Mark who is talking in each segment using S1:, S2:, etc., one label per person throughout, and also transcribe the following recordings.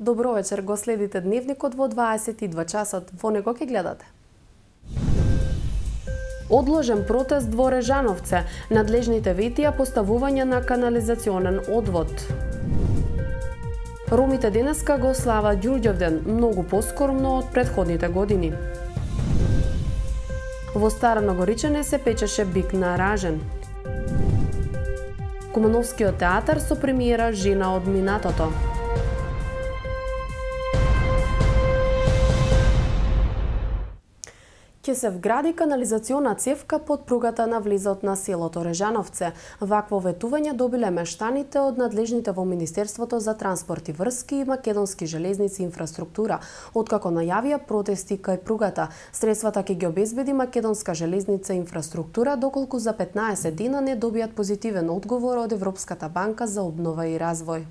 S1: Добро вечер, го следите дневникот во 22 часот. Во него ќе гледате. Одложен протест во Режановце. Надлежните ветија поставување на канализационен одвод. Ромите денеска го слават Ѓурѓовден, многу поскромно од претходните години. Во Старано Горичене се печеше бик на ражен. Кумановскиот театар со премиера Жена од минатото. Ќе се вгради канализациона цевка под пругата на влезот на селото Режановце. Вакво ветување добиле мештаните од надлежните во Министерството за транспорт и врски и Македонски железници и инфраструктура, откако најавија протести кај пругата. Средствата ќе ги обезбеди Македонска железница и инфраструктура, доколку за 15 дена не добијат позитивен одговор од Европската банка за обнова и развој.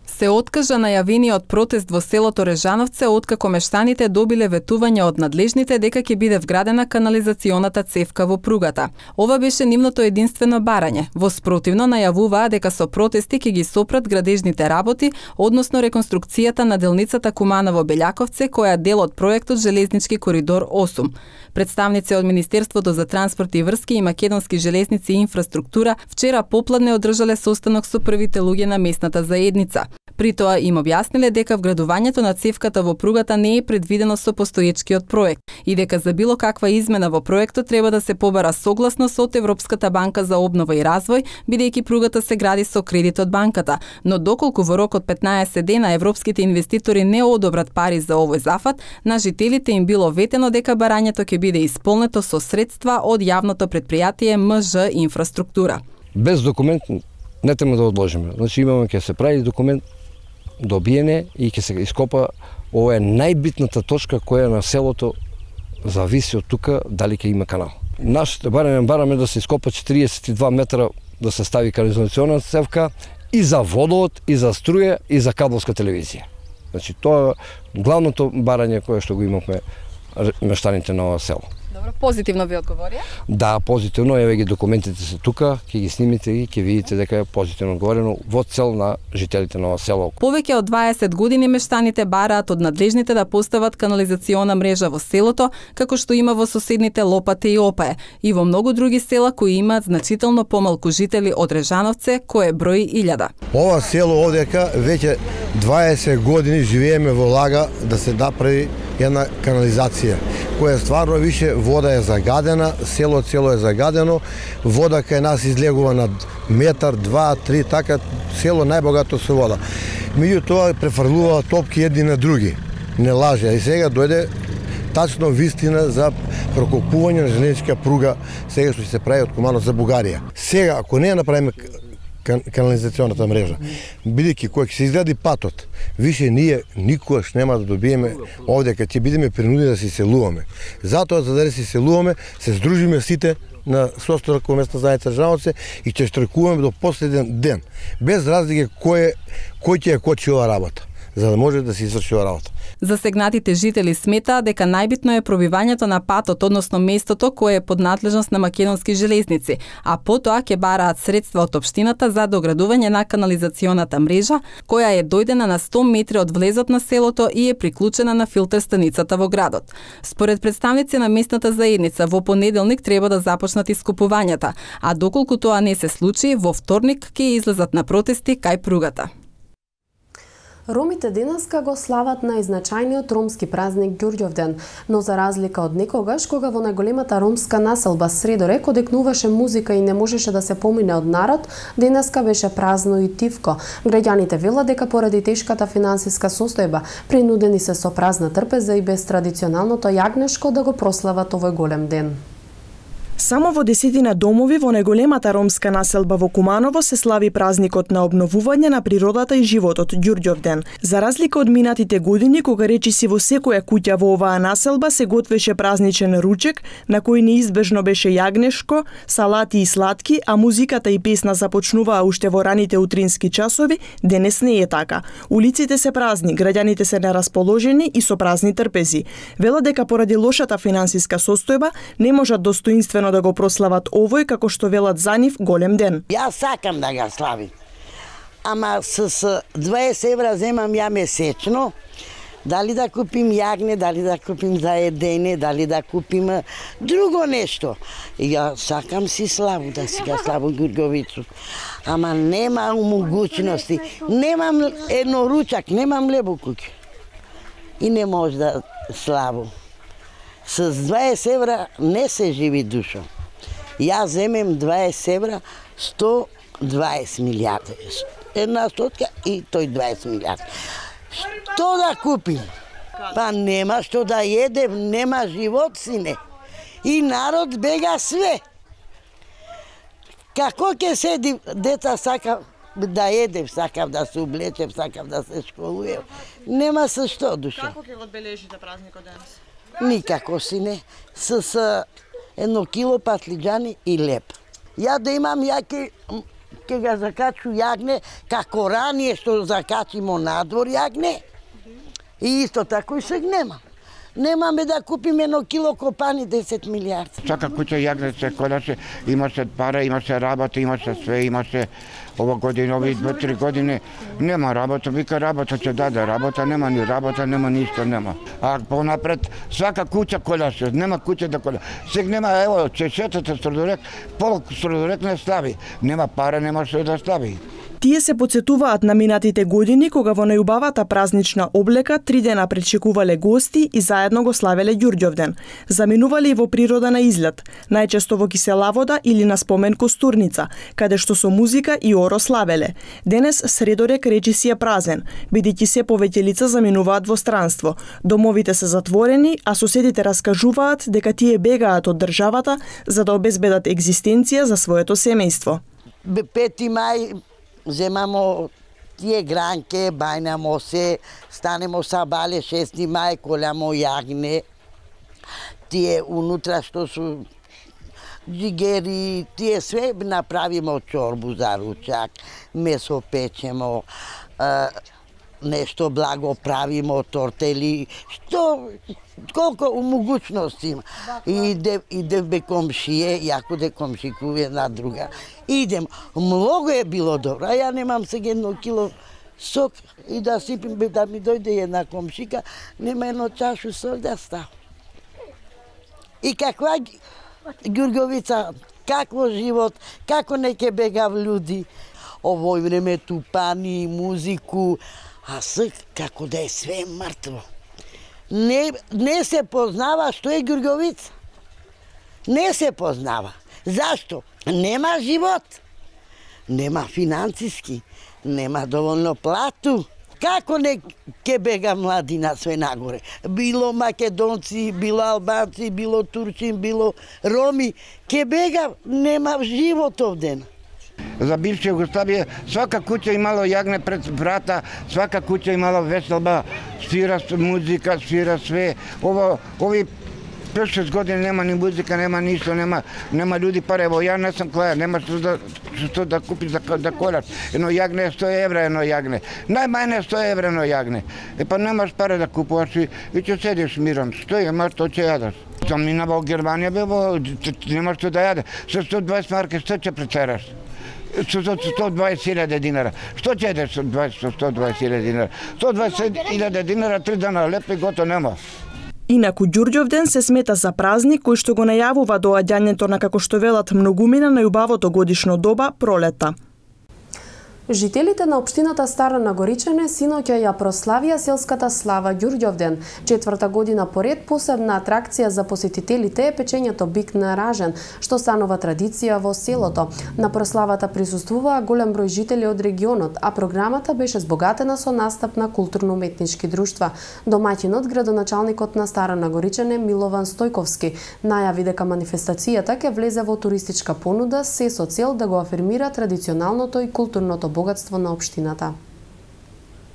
S2: Се откажа најавениот протест во селото Режановце откако мештаните добиле ветување од надлежните дека ќе биде вградена канализационата цевка во пругата. Ова беше нивното единствено барање. Во спротивно најавуваа дека со протести ќе ги сопрат градежните работи, односно реконструкцијата на делницата Куманово-Белјаковце, која е дел од проектот Железнички коридор 8. Представници од Министерството за транспорт и врски и Македонски железници и инфраструктура вчера попладне одржале состанок со првите луѓе на местната заедница. При тоа им објасниле дека вградувањето на цевката во пругата не е предвидено со постоечкиот проект и дека за било каква измена во проектот треба да се побара согласност од Европската банка за обнова и развој, бидејќи пругата се гради со кредит од банката, но доколку во рок од 15 дена европските инвеститори не одобрат пари за овој зафат, на жителите им било ветено дека барањето ќе биде исполнето со средства од јавното претпријатие МЖ инфраструктура.
S3: Без документ не треба да одложиме. Значи имаме ќе се прави документ добиене и ќе се ископа. Ова е најбитната точка која на селото зависи од тука дали ќе има канал. Нашите бараме да се ископа 42 метра да се стави канализационна цевка и за водовод, и за струја, и за кабелска телевизија. Значи тоа е главното барање кое што го имавме мештаните на ова село.
S2: Добро, позитивно ви одговорија?
S3: Да, позитивно, еве ги документите се тука, ќе ги снимите и ќе видите дека е позитивно одговорено во цел на жителите на ова село.
S2: Повеќе од 20 години мештаните бараат од надлежните да постават канализациона мрежа во селото, како што има во соседните Лопате и Опае, и во многу други села кои имаат значително помалку жители од Режановце, кое брои 1000.
S4: Ова село овдека веќе 20 години живееме во лага да се направи една канализација, која стварно више вода е загадена, цело е загадено, вода кај нас излегува на метар, 2, 3, така, село најбогато со вода. Меѓутоа префрлува топки едни на други, не лаже, и сега дојде тачно вистина за прокопување на железничка пруга, сега што се прави од Куманово за Бугарија. Сега, ако не направиме канализационата мрежа, бидејќи кој ќе се изгради патот, више ние никогаш нема да добиеме овдека, ќе бидеме принудени да се иселуваме. Затоа, за да се иселуваме, се здружиме сите на состанок во местна заедница Режановце и ќе штракуваме до последен ден, без разлика кој ќе ја кочи ова работа, за да може да се изврши ова работа.
S2: Засегнатите жители сметаат дека најбитно е пробивањето на патот, односно местото кое е под надлежност на Македонски железници, а потоа ќе бараат средства од општината за доградување на канализационата мрежа, која е дојдена на 100 метри од влезот на селото и е приклучена на филтер станицата во градот. Според представници на местната заедница, во понеделник треба да започнат искупувањата, а доколку тоа не се случи, во вторник ќе излезат на протести кај пругата.
S1: Ромите денеска го слават најзначајниот ромски празник Ѓурѓовден, но за разлика од некогаш, кога во најголемата ромска населба Средорек одекнуваше музика и не можеше да се помине од народ, денеска беше празно и тивко. Граѓаните велат дека поради тешката финансиска состојба, принудени се со празна трпеза и без традиционалното јагнешко да го прослават овој голем ден.
S5: Само во 10 домови во најголемата ромска населба во Куманово се слави празникот на обновување на природата и животот Ѓурѓовден. За разлика од минатите години, кога речиси во секоја куќа во оваа населба се готвеше празничен ручек, на кој неизбежно беше јагнешко, салати и сладки, а музиката и песна започнуваа уште во раните утрински часови, денес не е така. Улиците се празни, граѓаните се нерасположени и со празни трпези. Велат дека поради лошата финансиска состојба не можат достоинствено да го прослават овој, како што велат за нив, голем ден.
S6: Јас сакам да го славим. ама с 20 евра земам ја месечно. Дали да купим јагне, дали да купим за едење, дали да купим друго нешто. Ја сакам си славу, да си га славу Ѓурѓовицу. Ама нема могуćности. Немам едно ручак, немам леб у куќа. И не може да славу. С 20 евра не се живи душо. Ја земем 20 евра, 120 милиарди. Една стотка и тој 20 милиарди. Што да купим? Па нема што да едем, нема живот, сине. И народ бега све. Како ќе седи, деца сакав да едем, сакав да се облечем, сакав да се школуjem. Нема се што, душа.
S5: Како ќе го одбележите празникот денес?
S6: Никако, сине. С 1 кило патлиџани и леп. Ја да имам, ја ќе ga закачу јагне, како ранije што закачимо надвор јагне. И исто тако и сега нема. Немаме да купиме 1 кило копани 10 милиарди.
S7: Сака куќа јагне се колаше, имаше пара, имаше работа, имаше све, имаше ова година, ови 2-3 години нема работа, вика работа ќе даде, работа нема, ни работа нема, ништо нема. А понапред свака куќа колаше, нема куќа да кола. Сега нема, ево, чешетата Страдорек, пол Страдорек не слави, нема пара, нема што да слави.
S5: Тие се потсетуваат на минатите години кога во најубавата празнична облека 3 дена пречекувале гости и заедно го славеле Ѓурѓовден. Заминувале и во природа на излет, најчесто во кисела вода или на спомен Костурница, каде што со музика и оро славеле. Денес Средорек речи си е празен, бидејќи се повеќе лица заминуваат во странство. Домовите се затворени, а соседите раскажуваат дека тие бегаат од државата за да обезбедат екзистенција за своето семејство.
S6: 5 мај земамо тие гранке, бајнамо се, станемо са бале 6 мај, колямо јагне, тие унутра што су джигери, тие све направимо чорбу за ручак, месо печемо, нешто благо правимо, тортели, што колку могуćности има. Иде бе комшие, јако де комшикуве една друга. Идем, многу е било добро. А ја немам сега 1 кило сок и да сипим, да ми дојде една комшика, нема 1 чашу сок да става. И каква Ѓурѓовица, какво живот, како не ќе бегав луѓи. Овој време тупани, музику, а сега како да е све мртво. Не се познава што е Ѓурѓовица. Не се познава. Зашто? Нема живот. Нема финансиски. Нема доволно плату. Како не ке бега младина све нагоре? Било македонци, било албанци, било турчин, било роми. Ке бега, нема живот овден.
S7: За бивша Југославија свака куќа имало јагне пред врата, свака куќа имало веселба, свира музика, свира све. Ови 5-6 години нема ни музика, нема ништо, нема луѓи пари. Ево ја не сум клаја, нема што да купиш да колаш. Едно јагне е 100 евра, едно јагне. Најмајне 100 евра едно јагне. Па немаш пари да купуваш и ќе седиш мирон. Што имаш, што ќе јадеш. Сам минава во Германија, нема што да јаде. Со 120 марки што ќе претераш? Со 120.000 динара. Што ќе едеш со 120.000 динара? 120.000 динара, 3 дана леп и гото нема.
S5: Инаку Ѓурѓовден се смета за празник кој што го најавува доаѓањето на, како што велат многумина, најубавото годишно доба, пролета.
S1: Жителите на општината Стара Нагоричане синоќа ја прославија селската слава Ѓурѓовден. 4-та година поред посебна атракција за посетителите е печењето бик на ражен, што станува традиција во селото. На прославата присуствуваа голем број жители од регионот, а програмата беше збогатена со настап на културно-уметнички друштва. Домаќинот, градоначалникот на Стара Нагоричане Милован Стојковски, најави дека манифестацијата ќе влезе во туристичка понуда се со цел да го афирмира традиционалното и културното богатство на општината.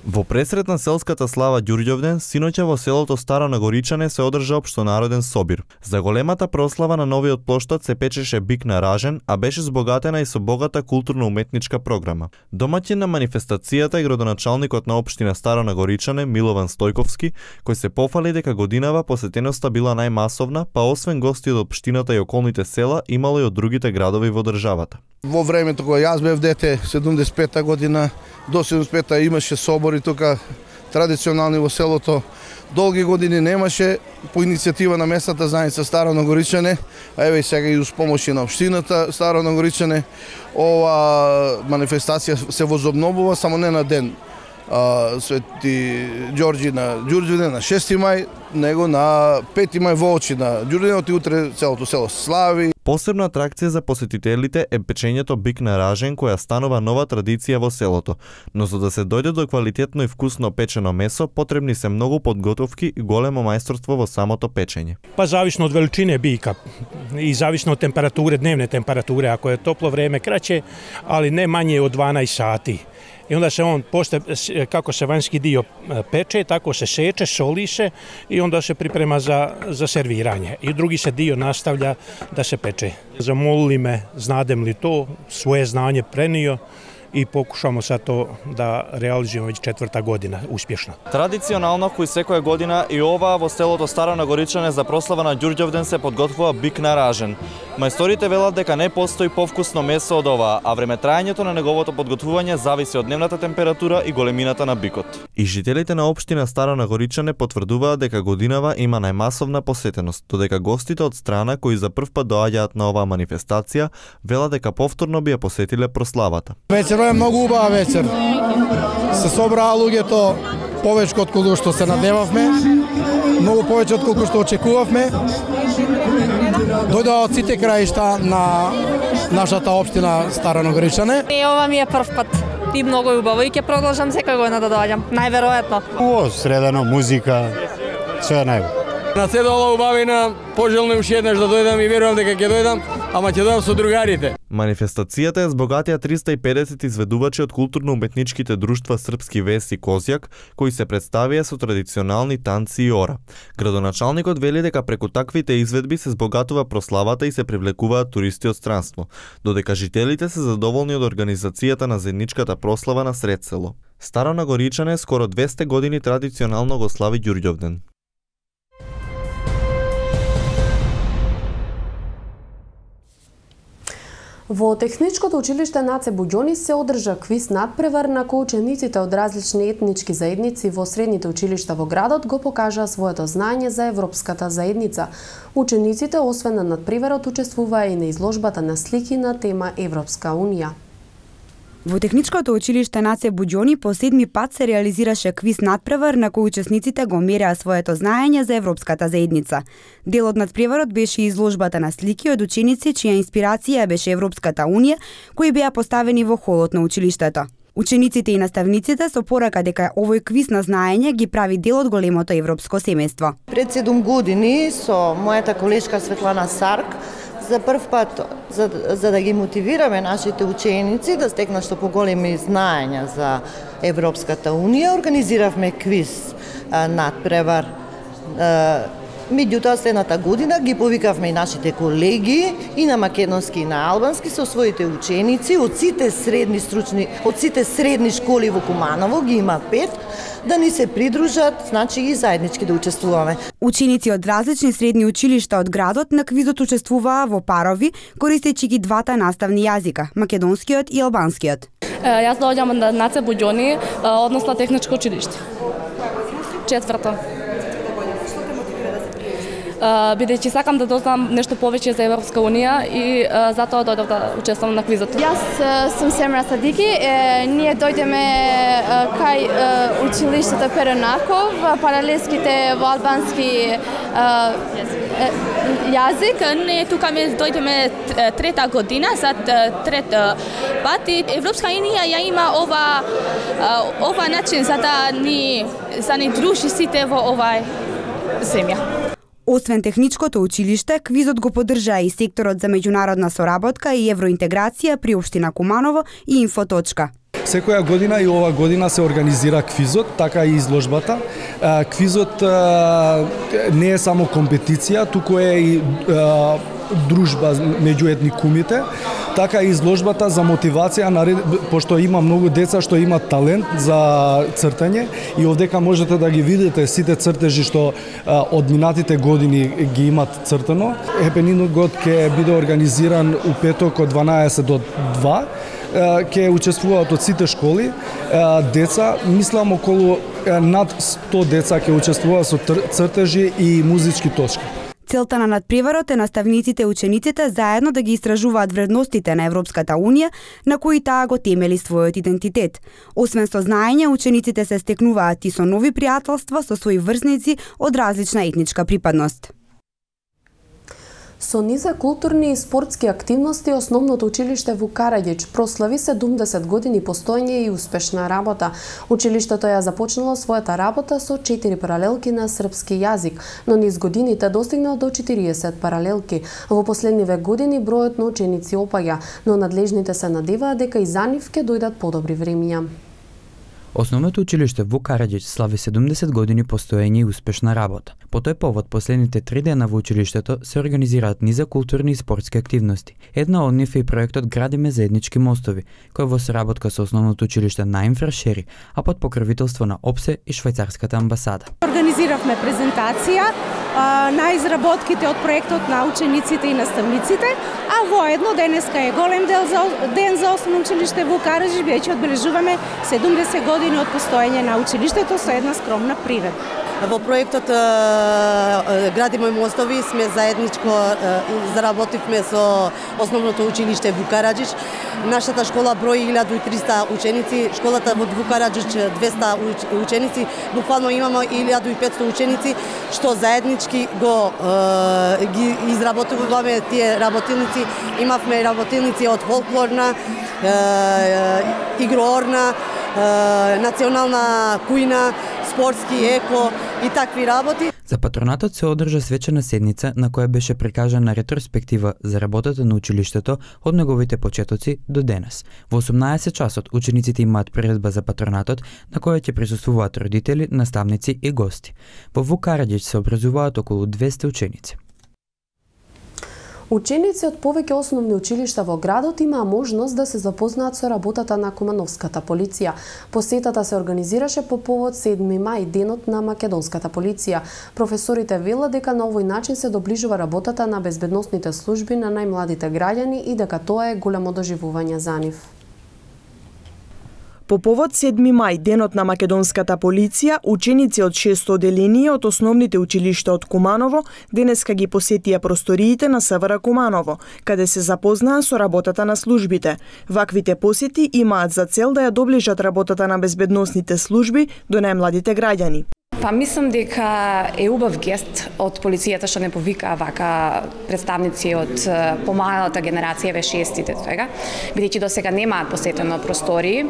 S8: Во пресрет на селската слава Ѓурѓовден, синоќа во селото Старо Нагоричане се одржа општонароден собир. За големата прослава на новиот плоштад се печеше бик на ражен, а беше збогатена и со богата културно-уметничка програма. Домаќин на манифестацијата и градоначалникот на општина Старо Нагоричане Милован Стојковски, кој се пофали дека годинава посетеноста била најмасовна, па освен гости од општината и околните села, имало и од другите градови во државата.
S9: Во времето кога јас бев дете, 75-та година, до 75-та имаше собори тука традиционални во селото. Долги години немаше, по иницијатива на местната заедница Старо Нагоричане, а еве и сега и уз помош на општината Старо Нагоричане, ова манифестација се возобновува само не на ден Свети Ѓорѓи на Ѓурѓовден на 6 мај, него на 5 мај во очи на Ѓурѓовден, и утре целото село слави.
S8: Посебна атракција за посетителите е печењето бик на ражен, која станува нова традиција во селото. Но за да се дојде до квалитетно и вкусно печено месо, потребни се многу подготовки и големо мајсторство во самото печење.
S10: Па зависно од величине бика и зависно од температуре, дневне температуре, ако е топло време краќе, али не мање од 12 сати. И onda se on, kako se vanjski dio peče, tako se seče, soli se i onda se priprema za serviranje. I drugi se dio nastavlja da se peče. Zamolili me, znadem li to, svoje znanje prenio i pokušamo sad to da realizujemo već 4. godina uspješno.
S8: Традиционално, кој секоја година и ова во селото Старо Нагоричане за прослава на Ѓурѓовден се подготвува бик на ражен. Мајсторите велат дека не постои повкусно месо од ова, а времетрајањето на неговото подготвување зависи од дневната температура и големината на бикот. И жителите на општина Старо Нагоричане потврдуваат дека годинава има најмасовна посетеност, додека гостите од страна кои за прв пат доаѓаат на оваа манифестација велат дека повторно би ја посетиле прославата.
S11: Вечерот е многу убава вечер. Се собраа луѓето повеќе од колку што се надевавме, многу повеќе од колку што очекувавме. Дојдоа од сите краишта на нашата општина Старо Нагоричане.
S12: Ова ми е прв пат и многу убаво и ќе продолжам секоја година да доаѓам, најверојатно.
S13: Средано, музика, све најубаво.
S14: На се дола убавина, пожелно уште еднаш да дојдам и верувам дека ќе дојдам, ама ќе дојдам со другарите.
S8: Манифестацијата ја збогатија 350 изведувачи од културно-уметничките друштва Српски вес и Козјак, кои се представија со традиционални танци и ора. Градоначалникот вели дека преку таквите изведби се збогатува прославата и се привлекуваат туристи од странство, додека жителите се задоволни од организацијата на заедничката прослава на сред село. Старо Нагоричане скоро 200 години традиционално го слави Ѓурѓовден.
S1: Во Техничкото училиште Наце Буѓони се одржа квиз надпревар на кој учениците од различни етнички заедници во средните училишта во градот го покажаа своето знаење за европската заедница. Учениците освен на надпреварот учествуваа и на изложбата на слики на тема Европска унија.
S15: Во Техничкото училиште Наце Буѓони по 7 пат се реализираше квиз надпревар на кој учесниците го мереа своето знаење за европската заедница. Дел од надпреварот беше изложбата на слики од ученици чија инспирација беше Европската унија, кои беа поставени во холот на училиштето. Учениците и наставниците со порака дека овој квиз на знаење ги прави дел од големото европско семејство.
S16: Пред 7 години со мојата колешка Светлана Сарк за прв пат, за да ги мотивираме нашите ученици да стекнат што поголеми знаења за Европската унија, организиравме квиз надпревар. Меѓутоа, следната година ги повикавме и нашите колеги и на македонски и на албански со своите ученици од сите средни школи во Куманово, ги има 5, да ни се придружат, значи и заеднички да учествуваме.
S15: Ученици од различни средни училишта од градот на квизот учествуваа во парови, користејќи ги двата наставни јазика, македонскиот и албанскиот.
S12: Јас доаѓам од Наце Буѓони, односно Техничко училиште. 4. Бидејќи сакам да дознам нешто повеќе за Европска унија и затоа дојдов да учествувам на квизот.
S17: Јас сум Семра Садики, ние дојдеме кај училиштето Перонаков, паралелските во албански
S18: јазик. Ние тука ме дојдеме 3-та година, за 3 пат и Европска унија ја има ова начин за да ни дружи сите во овај земја.
S15: Освен Техничкото училиште, квизот го поддржаа и секторот за меѓународна соработка и евроинтеграција при општина Куманово и Инфоточка.
S19: Секоја година и ова година се организира квизот, така и изложбата. Квизот не е само компетиција, туку е и дружба меѓу етникумите, така и изложбата за мотивација, пошто има многу деца што имаат талент за цртање и овдека можете да ги видите сите цртежи што од минатите години ги имат цртано. Хепенингот ќе биде организиран у петок од 12 до 2. Ќе учествуваат од сите школи деца, мислам околу над 100 деца ќе учествуваат со цртежи и музички точки.
S15: Целта на надпреварот е наставниците и учениците заедно да ги истражуваат вредностите на Европската Унија, на кои таа го темели својот идентитет. Освен со знаење, учениците се стекнуваат и со нови пријателства со своји врсници од различна етничка припадност.
S1: Со низа културни и спортски активности, Основното училиште во Караѓич прослави 70 години постоење и успешна работа. Училиштето ја започнало својата работа со 4 паралелки на српски јазик, но низ годините достигнал до 40 паралелки. Во последниве години бројот на ученици опаѓа, но надлежните се надеваат дека и за нив ќе дојдат подобри времиња.
S20: Основното училиште во Караѓич слави 70 години постоење и успешна работа. По тој повод, последните 3 дена во училиштето се организираат низа културни и спортски активности. Една од нив е и проектот Градиме заеднички мостови, кој во соработка со Основното училиште на Инфрашери, а под покровителство на ОПСЕ и Швајцарската амбасада.
S21: Организиравме презентација на изработките од проектот на учениците и наставниците, а воедно денеска е голем ден за Основно училиште во Караѓич, веќе одбележуваме 70 години од постоење на училиштето со една скромна приредба.
S22: Во проектот Градиме мостови сме заедничко заработивме со Основното училиште во Караѓич. Нашата школа брои 1300 ученици, школата во Караѓич 200 ученици, буквално имаме 1500 ученици што заеднички ги изработуваме тие работилници. Имавме работилници од фолклорна, игроорна, национална кујна, спортски, еко и такви работи.
S20: За патронатот се одржа свечена седница на која беше прикажана ретроспектива за работата на училиштето од неговите почетоци до денес. Во 18 часот учениците имаат приредба за патронатот на која ќе присуствуваат родители, наставници и гости. Во Караѓич се образуваат околу 200 ученици.
S1: Ученици од повеќе основни училишта во градот имаа можност да се запознаат со работата на Кумановската полиција. Посетата се организираше по повод 7 мај, денот на македонската полиција. Професорите велат дека на овој начин се доближува работата на безбедносните служби на најмладите граѓани и дека тоа е голямо доживување за нив.
S5: По повод 7 мај, денот на македонската полиција, ученици од 6 оделенија од основните училишта од Куманово денеска ги посетија просториите на СВР Куманово, каде се запознаа со работата на службите. Ваквите посети имаат за цел да ја доближат работата на безбедносните служби до најмладите граѓани.
S23: Па мислам дека е убав гест од полицијата што не повикаа вака представници од помалата генерација, шестите сега, бидејќи досега немаат посетено простории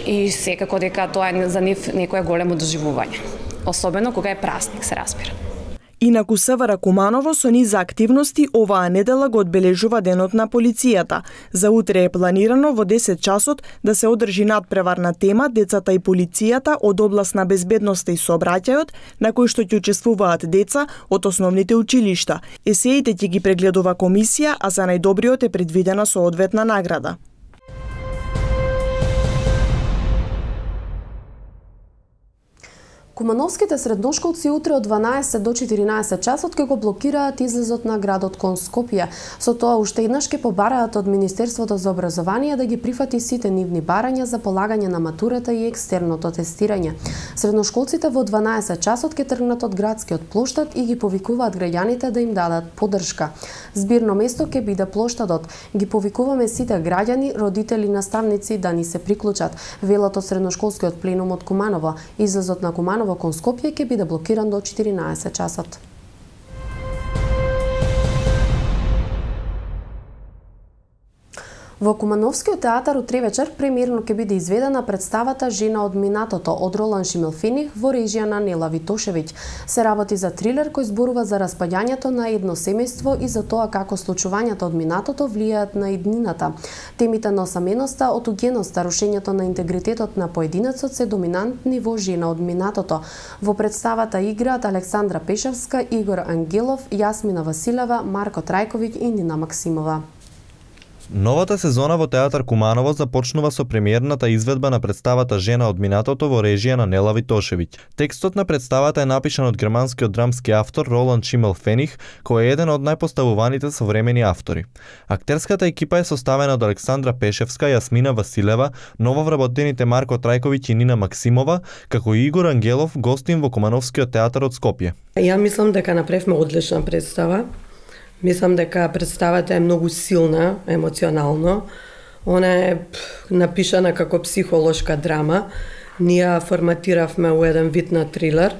S23: и секако дека тоа е за нив некое големо доживување. Особено кога е празник, се разбира.
S5: Инаку СВР Куманово со низа активности оваа недела го одбележува денот на полицијата. За утре е планирано во 10 часот да се одржи надпревар на тема Децата и полицијата од област на безбедноста и сообраќајот, на кој што ќе учествуваат деца од основните училишта. Есеите ќе ги прегледува комисија, а за најдобриот е предвидена соодветна награда.
S1: Кумановските средношколци утре од 12 до 14 часот ќе го блокираат излезот на градот кон Скопје. Со тоа уште еднаш ќе побараат од Министерството за образование да ги прифати сите нивни барања за полагање на матурата и екстерното тестирање. Средношколците во 12 часот ќе тргнат од градскиот плоштад и ги повикуваат граѓаните да им дадат поддршка. Збирно место ќе биде плоштадот. Ги повикуваме сите граѓани, родители, наставници да ни се приклучат. Велат од средношколскиот пленум од Куманово. Излезот на Куманово кон Скопје ќе биде блокиран до 14 часот. Во Кумановскиот театар утре вечер премиерно ќе биде изведена представата Жена од минатото од Ролан Шимелфених во режија на Нела Витошевиќ. Се работи за трилер кој зборува за распаѓањето на едно семејство и за тоа како случувањата од минатото влијаат на иднината. Темите на осаменоста, отугеноста, рушењето на интегритетот на поединецот се доминантни во Жена од минатото. Во представата играат Александра Пешевска, Игор Ангелов, Јасмина Василева, Марко Трајковиќ и Нина Максимова.
S8: Новата сезона во театар Куманово започнува со премиерната изведба на представата Жена од минатото во режија на Нела Витошевиќ. Текстот на представата е напишан од германскиот драмски автор Ролан Шимелфених, кој е еден од најпоставуваните современи автори. Актерската екипа е составена од Александра Пешевска, Јасмина Василева, нововработените Марко Трајковиќ и Нина Максимова, како и Игор Ангелов, гостин во Кумановскиот театар од Скопје.
S2: Ја мислам дека направивме одлична представа. Мислам дека представата е многу силна, емоционално. Она е напишана како психолошка драма. Ние форматиравме во еден вид на трилер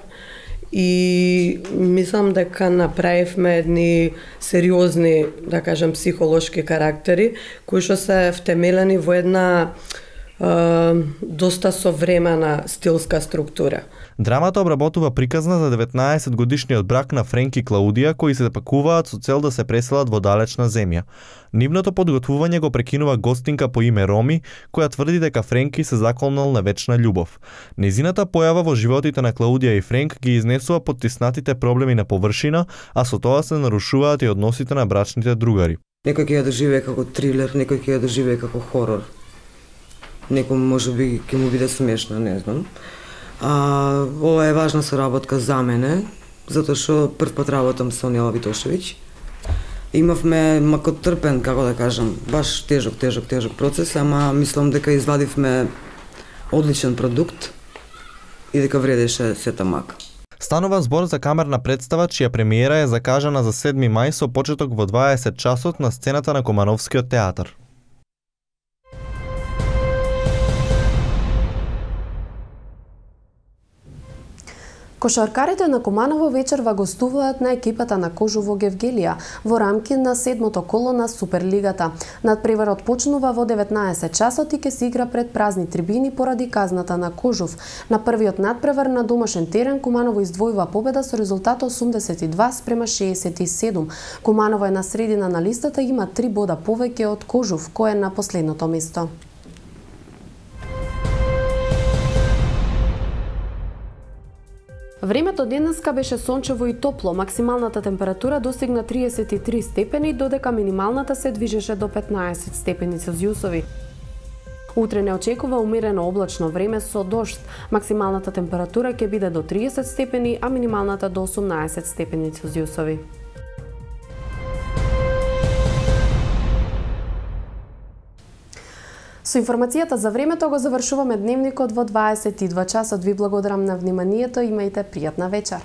S2: и мислам дека направивме едни сериозни, да кажем, психолошки карактери кои што се втемелени во една доста современа стилска структура.
S8: Драмата обработува приказна за 19 годишниот брак на Френк и Клаудија кои се пакуваат со цел да се преселат во далечна земја. Нивното подготвување го прекинува гостинка по име Роми, која тврди дека Френки се заколнал на вечна љубов. Незината појава во животите на Клаудија и Френк ги изнесува поттиснатите проблеми на површина, а со тоа се нарушуваат и односите на брачните другари.
S3: Некој ќе ја доживее како трилер, некој ќе ја доживее како хорор. Некој можеби ќе му биде смешно, не знам. Ова е важна соработка за мене, затоа што прв пат работам со Нела Витошевиќ. Имавме макотрпен, како да кажам, баш тежок процес, ама мислам дека извадивме одличен продукт и дека вредеше сета мака.
S8: Станува збор за камерна представа чија премиера е закажана за 7 мај со почеток во 20 часот на сцената на Кумановскиот театар.
S1: Кошаркарите на Куманово вечерва гостуваат на екипата на Кожово Гевгелија во рамки на 7-то коло на Суперлигата. Надпреварот почнува во 19 часот и ќе се игра пред празни трибини поради казната на Кожов. На првиот надпревар на домашен терен Куманово издвојува победа со резултат 82-67. Куманово е на средина на листата и има 3 бода повеќе од Кожов, кој е на последното место. Времето денеска беше сончево и топло. Максималната температура достигна 33 степени, додека минималната се движеше до 15 степени Целзиусови. Утре не очекува умерено облачно време со дожд. Максималната температура ќе биде до 30 степени, а минималната до 18 степени Целзиусови. Со информацијата за времето го завршуваме дневникот во 22 часот. Ви благодарам на вниманието, имајте пријатна вечер.